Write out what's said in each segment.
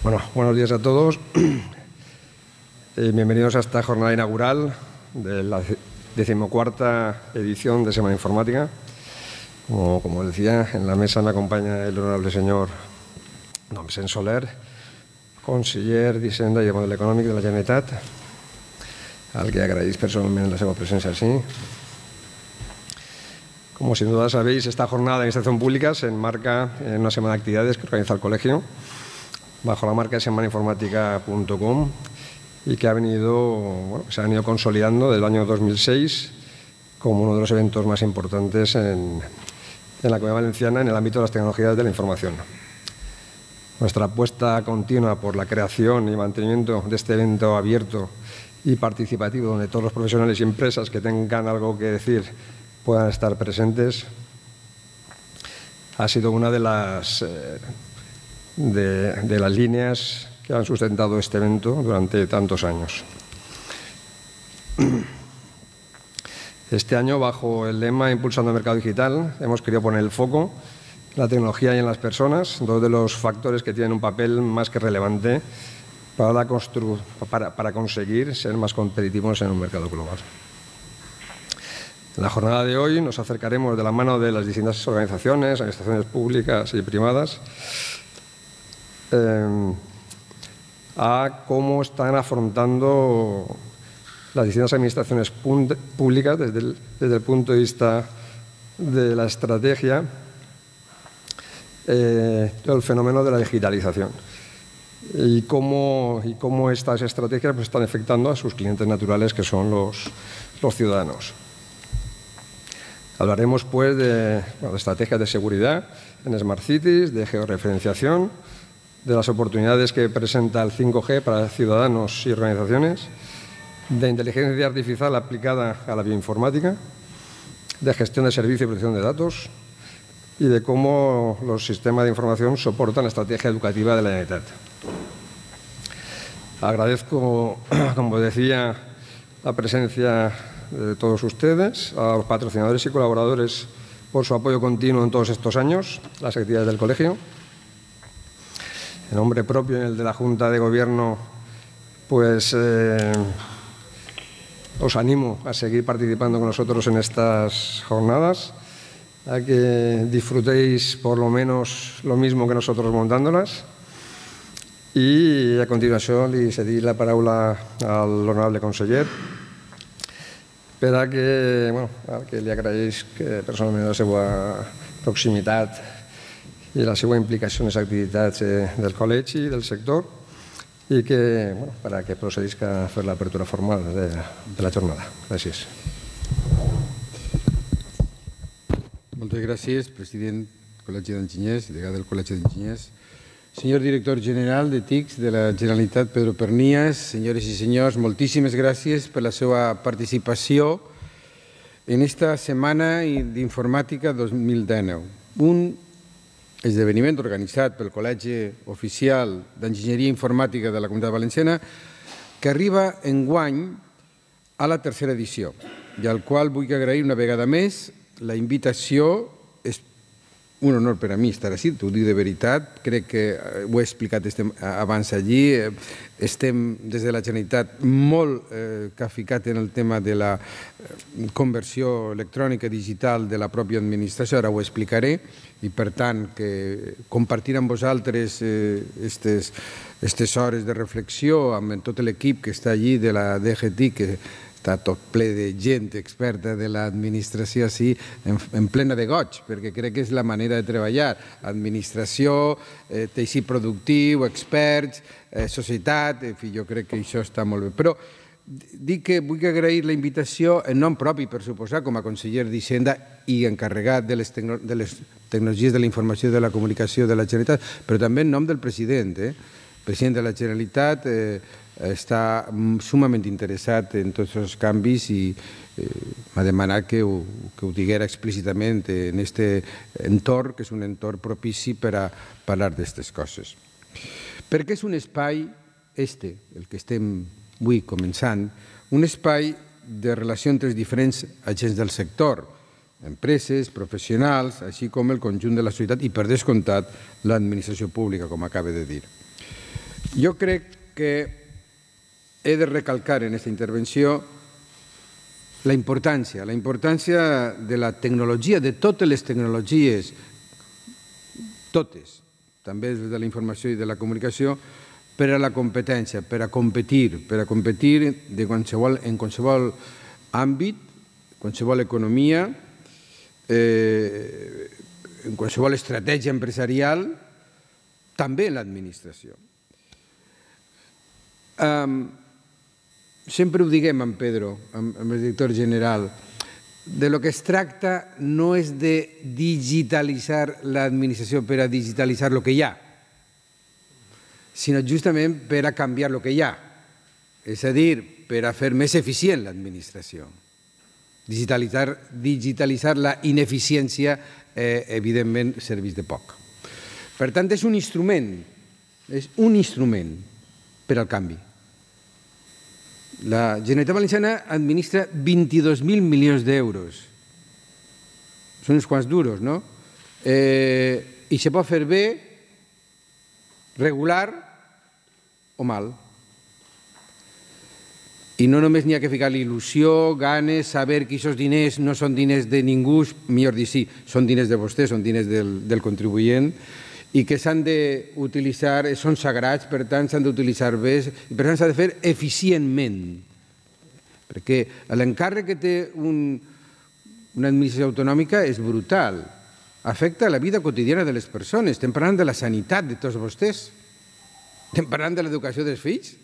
Bueno, buenos días a todos. Bienvenidos a esta jornada inaugural de la 14ª edición de Semana Informática. Como decía, en la mesa me acompaña el honorable señor don Vicent Soler, conseller d'Hisenda i Model Econòmic de la Generalitat, al que agraïs personalment la seva presència així. Como sin duda sabéis, esta jornada de administración pública se enmarca en una semana de actividades que organiza el colegio bajo la marca de semanainformática.com y que se ha venido consolidando desde el año 2006 como uno de los eventos más importantes en la Comunidad Valenciana en el ámbito de las tecnologías de la información. Nuestra apuesta continua por la creación y mantenimiento de este evento abierto y participativo, donde todos los profesionales y empresas que tengan algo que decir puedan estar presentes, ha sido una de las líneas que han sustentado este evento durante tantos años. Este año, bajo el lema Impulsando el Mercado Digital, hemos querido poner el foco en la tecnología y en las personas, dos de los factores que tienen un papel más que relevante para conseguir ser más competitivos en un mercado global. En la jornada de hoy nos acercaremos de la mano de las distintas organizaciones, administraciones públicas y privadas, a cómo están afrontando las distintas administraciones públicas desde el punto de vista de la estrategia, todo el fenómeno de la digitalización y cómo estas estrategias están afectando a sus clientes naturales, que son los ciudadanos. Hablaremos de estrategias de seguridad en Smart Cities, de georreferenciación, de las oportunidades que presenta el 5G para ciudadanos y organizaciones, de inteligencia artificial aplicada a la bioinformática, de gestión de servicios y protección de datos y de cómo los sistemas de información soportan la estrategia educativa de la Generalitat. Agradezco, como decía, la presencia de todos ustedes, a los patrocinadores y colaboradores por su apoyo continuo en todos estos años, las actividades del colegio. En nombre propio y en el de la Junta de Gobierno, pues os animo a seguir participando con nosotros en estas jornadas, a que disfrutéis por lo menos lo mismo que nosotros montándolas. I a continuació li cediré la paraula a l'honorable conseller per a que li agraeix personalment la seva proximitat i la seva implicació en les activitats del col·legi i del sector i per a que procedisca a fer l'apertura formal de la jornada. Gràcies. Moltes gràcies, president del Col·legi d'Enginyers, degà del Col·legi d'Enginyers. Senyor director general de TICS de la Generalitat, Pedro Pernías, senyores i senyors, moltíssimes gràcies per la seva participació en esta Setmana d'Informàtica 2019. Un esdeveniment organitzat pel Col·legi Oficial d'Enginyeria Informàtica de la Comunitat Valenciana que arriba enguany a la 3a edició i al qual vull agrair una vegada més la invitació. És un honor per a mi estar així, t'ho dic de veritat, crec que ho he explicat abans allí, estem des de la Generalitat molt capficats en el tema de la conversió electrònica digital de la pròpia administració, ara ho explicaré, i per tant que compartir amb vosaltres aquestes hores de reflexió amb tot l'equip que està allí de la DGTIC, que està tot ple de gent experta de l'administració així, en plena de goig, perquè crec que és la manera de treballar. Administració, teixit productiu, experts, societat, en fi, jo crec que això està molt bé. Però dic que vull agrair la invitació en nom propi, per suposar, com a conseller d'Hisenda i encarregat de les tecnologies de la informació i de la comunicació de la Generalitat, però també en nom del president. El president de la Generalitat està sumament interessat en tots els canvis i m'ha demanat que ho diguera explícitament en aquest entorn, que és un entorn propici per a parlar d'aquestes coses. Perquè és un espai, el que estem avui començant, un espai de relació entre els diferents agents del sector, empreses, professionals, així com el conjunt de la societat i, per descomptat, l'administració pública, com acaba de dir. Jo crec que he de recalcar en aquesta intervenció la importància de la tecnologia, de totes les tecnologies, totes, també de la informació i de la comunicació, per a la competència, per a competir en qualsevol àmbit, qualsevol economia, en qualsevol estratègia empresarial, també en l'administració. Sempre ho diguem amb Pedro, amb el director general, de lo que es tracta no és de digitalitzar l'administració per a digitalitzar el que hi ha, sinó justament per a canviar el que hi ha, és a dir, per a fer més eficient l'administració. Digitalitzar la ineficiència, evidentment, serveix de poc. Per tant, és un instrument per al canvi. La Generalitat Valenciana administra 22.000 milions d'euros. Són uns quants duros, no? I se pot fer bé, regular o mal. I no només n'hi ha que ficar il·lusió, ganes, saber que aquests diners no són diners de ningú, millor dir sí, són diners de vostè, són diners del contribuent, i que s'han d'utilitzar, són sagrats, per tant s'han d'utilitzar bé, i per tant s'ha de fer eficientment. Perquè l'encàrrec que té una administració autonòmica és brutal. Afecta la vida quotidiana de les persones. Estem parlant de la sanitat de tots vostès. Estem parlant de l'educació dels fills.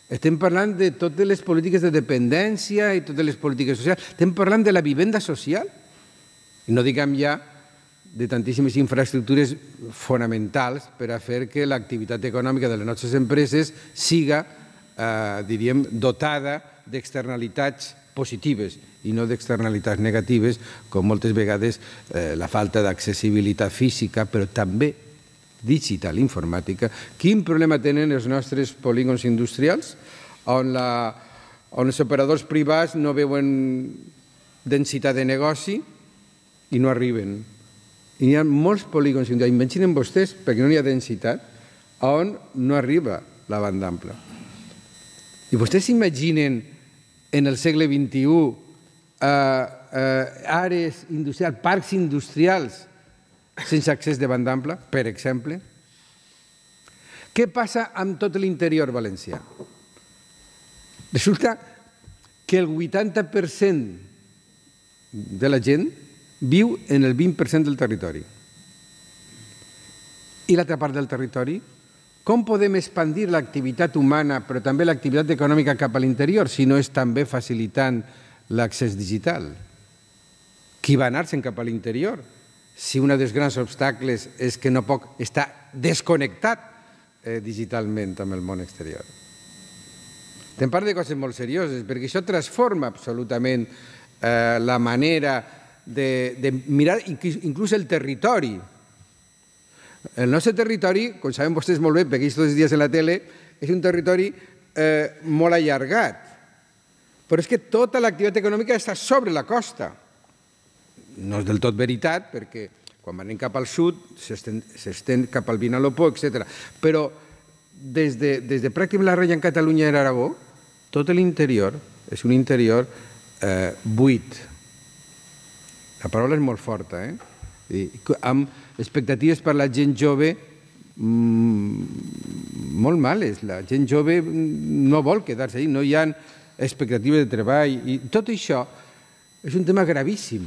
Estem parlant de totes les polítiques de dependència i totes les polítiques socials. Estem parlant de la vivenda social. I no diguem ja de tantíssimes infraestructures fonamentals per a fer que l'activitat econòmica de les nostres empreses siga, diríem, dotada d'externalitats positives i no d'externalitats negatives, com moltes vegades la falta d'accessibilitat física, però també digital, informàtica. Quin problema tenen els nostres polígons industrials on els operadors privats no veuen densitat de negoci i no arriben? I hi ha molts polígons industrials, imaginen vostès, perquè no hi ha densitat, on no arriba la banda ampla. I vostès s'imaginen en el segle XXI àrees industrials, parcs industrials sense accés de banda ampla, per exemple? Què passa amb tot l'interior valencià? Resulta que el 80% de la gent viu en el 20% del territori. I l'altra part del territori? Com podem expandir l'activitat humana, però també l'activitat econòmica cap a l'interior, si no és també facilitant l'accés digital? Qui va anar-se'n cap a l'interior? Si un dels grans obstacles és que no pot estar desconnectat digitalment amb el món exterior. Estem parlant de coses molt serioses, perquè això transforma absolutament la manera de mirar inclús el territori. El nostre territori, com saben vostès molt bé, perquè tots els dies en la tele, és un territori molt allargat. Però és que tota l'activitat econòmica està sobre la costa. No és del tot veritat, perquè quan anem cap al sud s'estén cap al Vinalopó, etc. Però des de pràcticament la rella en Catalunya i l'Aragó, tot l'interior és un interior buit. La paraula és molt forta, amb expectatives per la gent jove molt males. La gent jove no vol quedar-se allà, no hi ha expectatives de treball. I tot això és un tema gravíssim,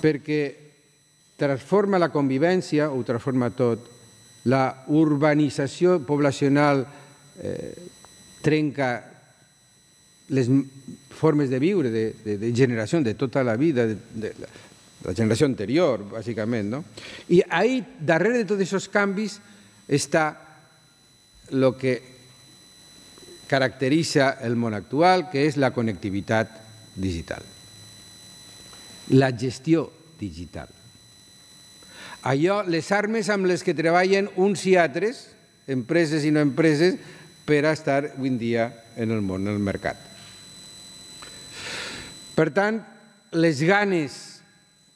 perquè transforma la convivència, ho transforma tot. La urbanització poblacional trenca les formes de viure, de generació, de tota la vida, de la generació anterior, bàsicament. I ahí, darrere de tots aquests canvis, està el que caracteritza el món actual, que és la connectivitat digital. La gestió digital. Allò, les armes amb les que treballen uns i altres, empreses i no empreses, per a estar avui en dia en el món, en el mercat. Per tant, les ganes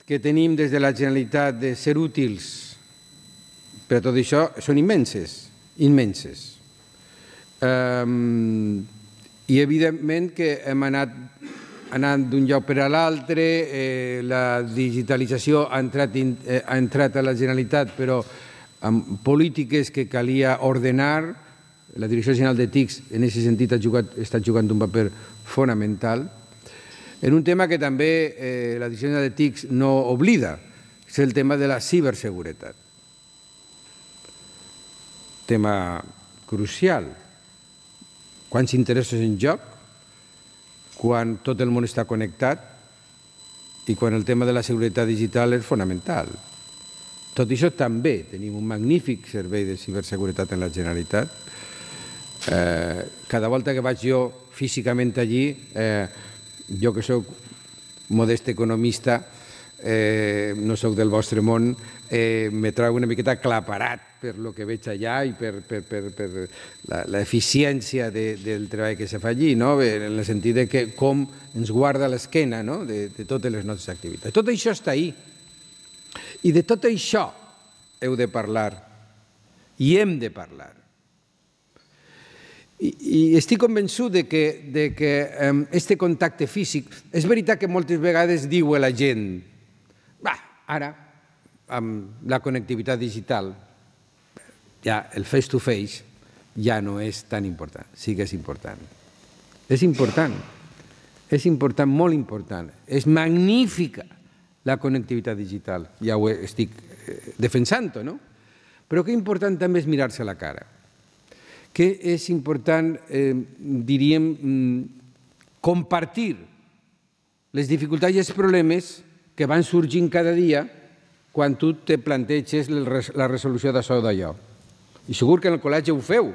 que tenim des de la Generalitat de ser útils però tot això són immenses, immenses. I evidentment que hem anat d'un lloc per a l'altre, la digitalització ha entrat a la Generalitat, però amb polítiques que calia ordenar. La Direcció General de TICS en aquest sentit està jugant un paper fonamental. En un tema que també la Direcció General de TICS no oblida, és el tema de la ciberseguretat. Tema crucial. Quants interessos en joc, quan tot el món està connectat i quan el tema de la seguretat digital és fonamental. Tot això també tenim un magnífic servei de ciberseguretat en la Generalitat. Cada volta que vaig jo físicament allí, jo que soc modest economista, no soc del vostre món, me trobo una miqueta aclaparat per el que veig allà i per l'eficiència del treball que se fa allí, en el sentit que com ens guarda l'esquena de totes les nostres activitats. Tot això està ahí. I de tot això heu de parlar i hem de parlar. I estic convençut que aquest contacte físic, és veritat que moltes vegades diu la gent, ara, amb la connectivitat digital, ja el face-to-face ja no és tan important. Sí que és important. És important. És important, molt important. És magnífica la connectivitat digital. Ja ho estic defensant, no? Però que important també és mirar-se a la cara. Que és important, diríem, compartir les dificultats i els problemes que van sorgint cada dia quan tu te planteges la resolució d'això o d'allò. I segur que en el col·legi ho feu,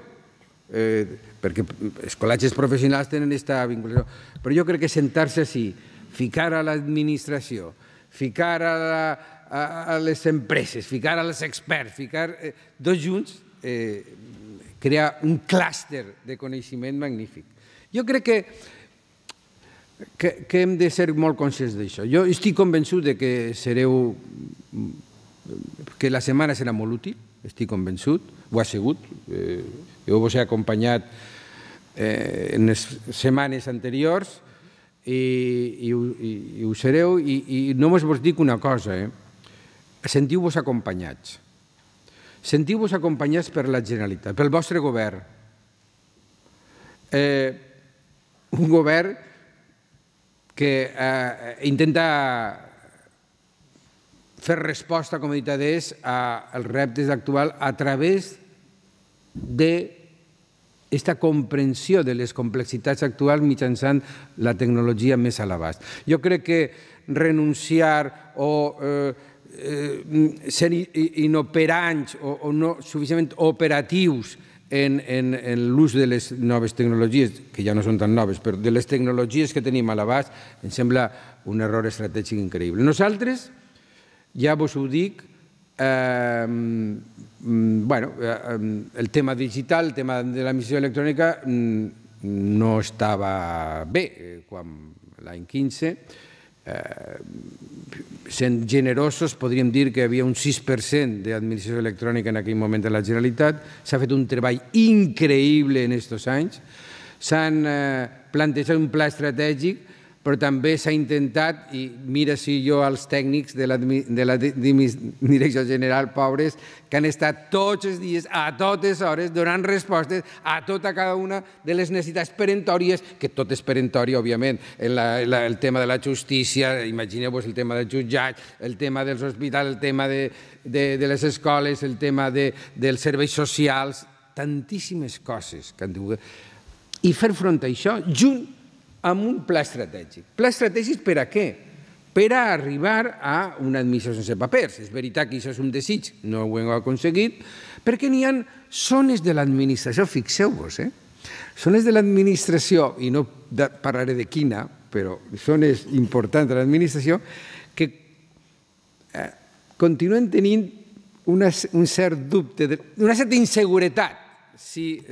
perquè els col·legis professionals tenen aquesta vinculació. Però jo crec que sentar-se així, ficar a l'administració, ficar a les empreses, ficar als experts, ficar tots junts, crear un clúster de coneixement magnífic. Jo crec que hem de ser molt conscients d'això. Jo estic convençut que la setmana serà molt útil, estic convençut, ho ha sigut. Jo vos he acompanyat en les setmanes anteriors i ho sereu. I només vos dic una cosa, sentiu-vos acompanyats. Sentiu-vos acompanyats per la Generalitat, pel vostre govern. Un govern que intenta fer resposta, com he dit adés, als reptes actuals a través d'aquesta comprensió de les complexitats actuals mitjançant la tecnologia més a l'abast. Jo crec que renunciar o ser inoperants o no suficientment operatius en l'ús de les noves tecnologies, que ja no són tan noves, però de les tecnologies que tenim a l'abast, em sembla un error estratègic increïble. Nosaltres, ja vos ho dic, el tema digital, el tema de l'emissió electrònica no estava bé quan l'any 15. Sent generosos, podríem dir que hi havia un 6% d'administració electrònica en aquell moment a la Generalitat. S'ha fet un treball increïble en aquests anys. S'han plantejat un pla estratègic, però també s'ha intentat, i mira si jo als tècnics de la Direcció General, pobres, que han estat tots els dies, a totes hores, donant respostes a tota cada una de les necessitats peremptòries, que tot és peremptori, òbviament, el tema de la justícia, imagineu-vos el tema dels jutjats, el tema dels hospitals, el tema de les escoles, el tema dels serveis socials, tantíssimes coses que han tingut. I fer front a això, junt amb un pla estratègic. Pla estratègic per a què? Per a arribar a una administració sense papers. És veritat que això és un desig, no ho hem aconseguit, perquè n'hi ha zones de l'administració, fixeu-vos, zones de l'administració, i no parlaré de quina, però zones importants de l'administració, que continuen tenint un cert dubte, una certa inseguretat si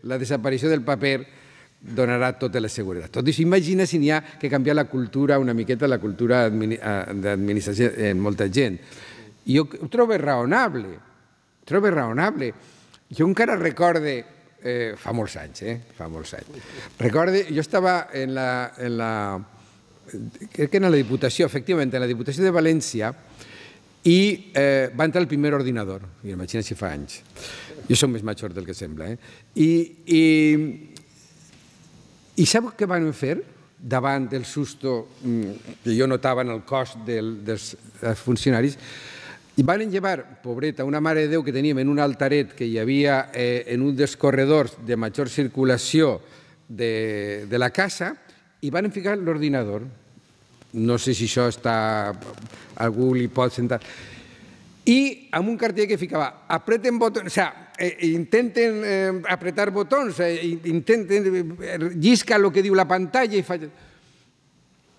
la desaparició del paper donarà tota la seguretat. Tot això, imagina si n'hi ha que canviar la cultura, una miqueta la cultura d'administració en molta gent. I jo ho trobo raonable. trobo raonable. Jo encara recorde, fa molts anys, fa molts anys. Recorde, jo estava crec que en la Diputació, efectivament, en la Diputació de València, i va entrar el primer ordinador. Imagina si fa anys. Jo soc més major del que sembla. I sap què van fer davant del susto que jo notava en el cos dels funcionaris? I van llevar, pobreta, una Mare de Déu que teníem en un altaret que hi havia en un dels corredors de major circulació de la casa, i van ficar l'ordinador. No sé si això està... algú li pot sentar. I amb un cartell que ficava apreten botons, o sigui, intenten apretar botons, intenten lliscar el que diu la pantalla i fa...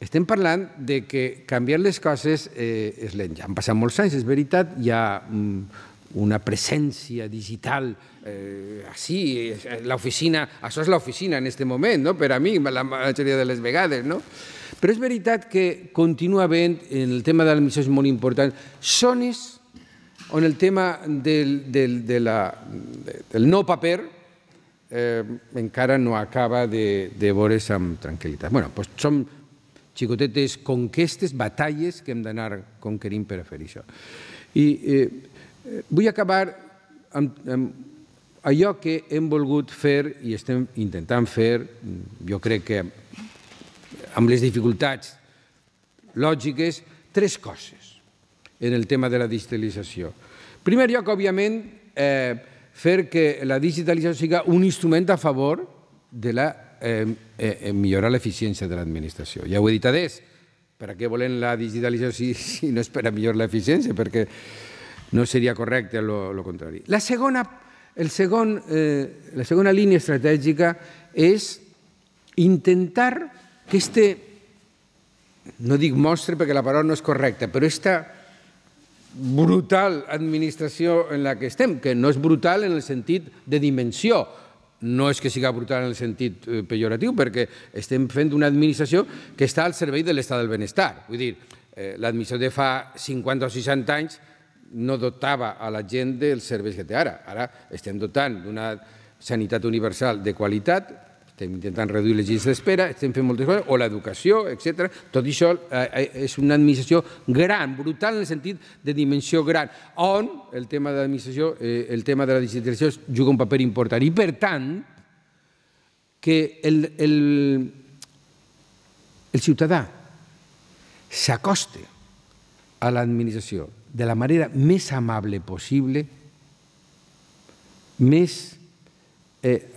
Estem parlant de que canviar les coses és lent. Ja han passat molts anys, és veritat, hi ha una presència digital així, l'oficina, això és l'oficina en aquest moment, per a mi, la majoria de les vegades, no? Però és veritat que continua havent, en el tema de l'administració és molt important, zones on el tema del no paper encara no acaba de veure's amb tranquil·litat. Bé, doncs són xicotetes conquestes, batalles que hem d'anar conquerint per a fer això. I vull acabar amb allò que hem volgut fer i estem intentant fer, jo crec que amb les dificultats lògiques, 3 coses en el tema de la digitalització. En primer lloc, òbviament, fer que la digitalització sigui un instrument a favor de millorar l'eficiència de l'administració. Ja ho he dit adés, per a què volem la digitalització si no és per a millorar l'eficiència, perquè no seria correcte el contrari. La segona línia estratègica és intentar que no dic mostre perquè la paraula no és correcta, però aquesta brutal administració en la que estem, que no és brutal en el sentit de dimensió, no és que sigui brutal en el sentit pejoratiu, perquè estem fent una administració que està al servei de l'estat del benestar. Vull dir, l'administració de fa 50 o 60 anys no dotava a la gent dels serveis que té ara. Ara estem dotant d'una sanitat universal de qualitat, estem intentant reduir les llistes d'espera, estem fent moltes coses, o l'educació, etc. Tot això és una administració gran, brutal en el sentit de dimensió gran, on el tema de l'administració, el tema de la digitalització juga un paper important. I, per tant, que el ciutadà s'acosti a l'administració de la manera més amable possible,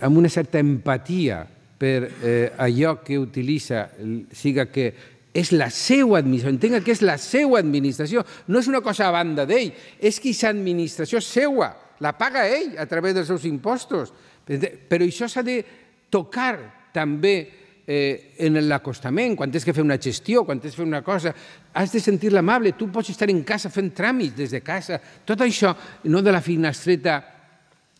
amb una certa empatia per allò que utilitza, siga que és la seva administració, entenga que és la seva administració, no és una cosa a banda d'ell, és que aquesta administració és seva, la paga ell a través dels seus impostos, però això s'ha de tocar també en l'acostament, quan has de fer una gestió, quan has de fer una cosa, has de sentir-la amable, tu pots estar en casa fent tràmits des de casa, tot això, no de la finestreta,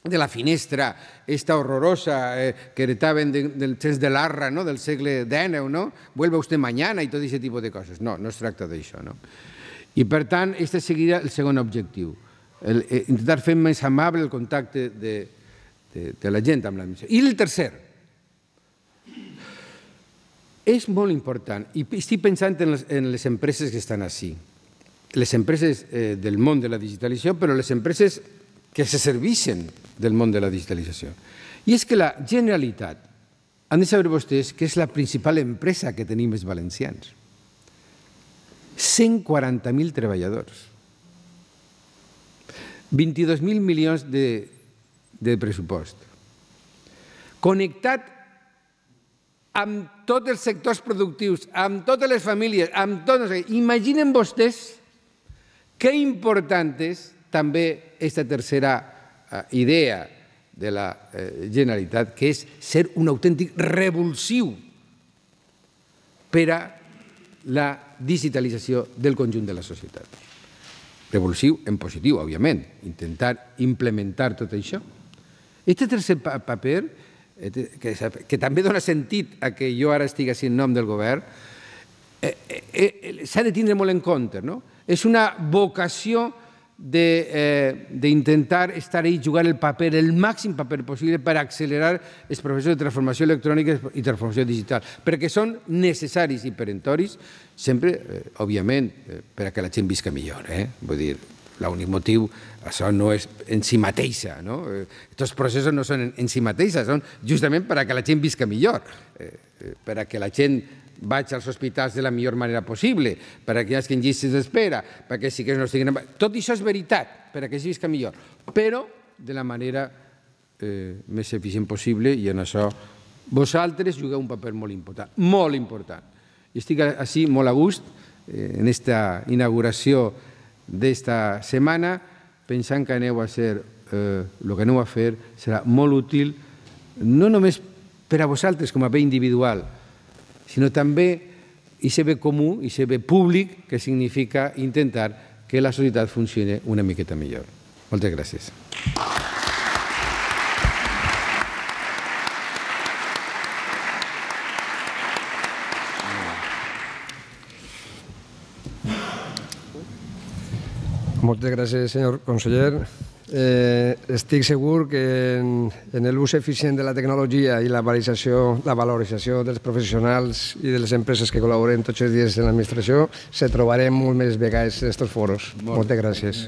de la finestra, esta horrorosa que heretaven del temps de l'Arra, del segle XIX, vuelva usted mañana i tot aquest tipus de coses. No, no es tracta d'això. I, per tant, aquest seria el segon objectiu, intentar fer més amable el contacte de la gent amb l'administració. I el tercer, és molt important, i estic pensant en les empreses que estan així, les empreses del món de la digitalització, però les empreses que se serveixen del món de la digitalització. I és que la Generalitat, han de saber vostès que és la principal empresa que tenim els valencians. 140.000 treballadors. 22.000 milions de pressupost. Connectat amb tots els sectors productius, amb totes les famílies, amb tot... Imaginen vostès que important és també aquesta tercera idea de la Generalitat, que és ser un autèntic revulsiu per a la digitalització del conjunt de la societat. Revulsiu en positiu, òbviament, intentar implementar tot això. Aquest tercer paper, que també dona sentit a que jo ara estigui en nom del govern, s'ha de tindre molt en compte. És una vocació d'intentar estar ahí, jugar el paper, el màxim paper possible per accelerar els processos de transformació electrònica i transformació digital, perquè són necessaris i perentoris, sempre, òbviament, per a que la gent visca millor. Vull dir, l'únic motiu, això no és en si mateixa. Aquests processos no són en si mateixa, són justament per a que la gent visca millor, per a que la gent vaig als hospitals de la millor manera possible, per a que hi hagi llistes d'espera, perquè sí que no estiguin... Tot això és veritat, per a que es visca millor, però de la manera més eficient possible, i en això vosaltres jugueu un paper molt important, molt important. I estic així molt a gust en aquesta inauguració d'esta setmana, pensant que aneu a ser, el que aneu a fer serà molt útil, no només per a vosaltres com a bé individual, sinó també aquest bé comú, aquest bé públic, que significa intentar que la societat funcioni una miqueta millor. Moltes gràcies. Moltes gràcies, senyor conseller. Estic segur que en l'ús eficient de la tecnologia i la valorització dels professionals i de les empreses que col·laboren tots els dies en l'administració se trobarem molt més vegades en aquests foros. Moltes gràcies.